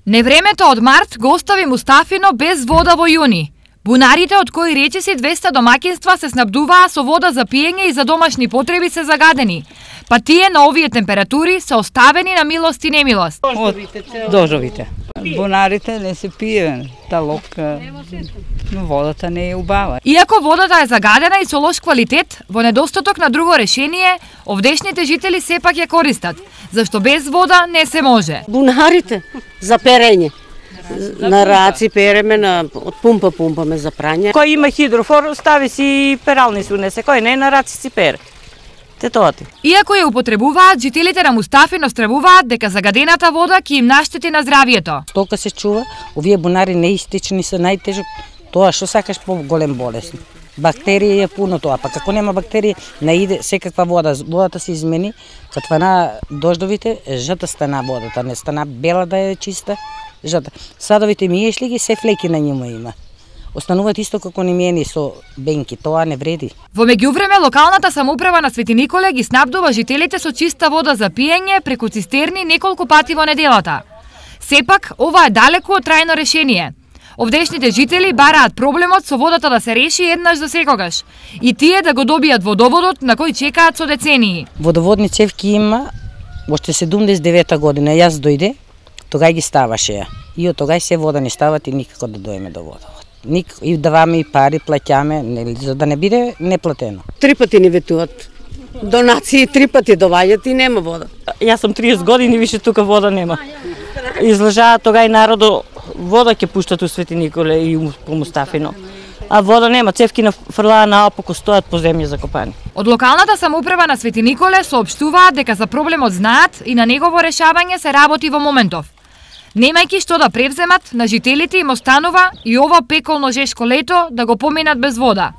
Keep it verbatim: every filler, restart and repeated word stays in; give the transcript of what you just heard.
Невремето од март го остави Мустафино без вода во јуни. Бунарите, од кои речиси двеста домаќинства се снабдуваа со вода за пиење и за домашни потреби, се загадени. Па тие на овие температури се оставени на милост и немилост. Од дождовите. Бунарите не се пие, талок, но водата не е убава. Иако водата е загадена и со лош квалитет, во недостаток на друго решение, овдешните жители сепак ја користат, зашто без вода не се може. Бунарите за перење. На раци переме, на од пумпа пумпаме за прање. Кој има хидрофор, стави си перални се унесе, кој не на раци си пере. Те тоа ти. Иако ја употребуваат, жителите на Мустафино стравуваат дека загадената вода ќе им наштети на здравието. Стока се чува, овие бунари неистични се најтежок, тоа што сакаш по-голем болест. Бактерии е пуно тоа, па како нема бактерии, наиде секаква вода, водата се измени, кад на дождовите, жата стана водата, не стана бела да е чиста, жата. Садовите миеш ли ги, се флеки на нива има. Остануваат исто како немиени со бенки, тоа не вреди. Во меѓувреме, локалната самоуправа на Свети Николе ги снабдува жителите со чиста вода за пиење преку цистерни неколку пати во неделата. Сепак, ова е далеку од трајно решение. Овдешните жители бараат проблемот со водата да се реши еднаш за секогаш и тие да го добијат водоводот на кој чекаат со децении. Водоводни цевки има уште седумдесет и девета година, јас дојде, тогај ги ставаше ја. И од тогај се вода не стават и никако да доеме до водовод. Ник и даваме и пари, плаќаме, нели, за да не биде неплатено. Три пати ни ветуват. Донации три пати доваѓаат и нема вода. Јас сум триесет години, више тука вода нема. Излажаат тогај народо, вода ќе пуштат у Свети Николе и по Мустафино. А вода нема, цевки на фрлаа наопаку стојат по земја закопани. Од локалната самоуправа на Свети Николе соопштуваат дека за проблемот знаат и на негово решавање се работи во моментов. Немајќи што да превземат, на жителите им останува и ова пеколно жешко лето да го поминат без вода.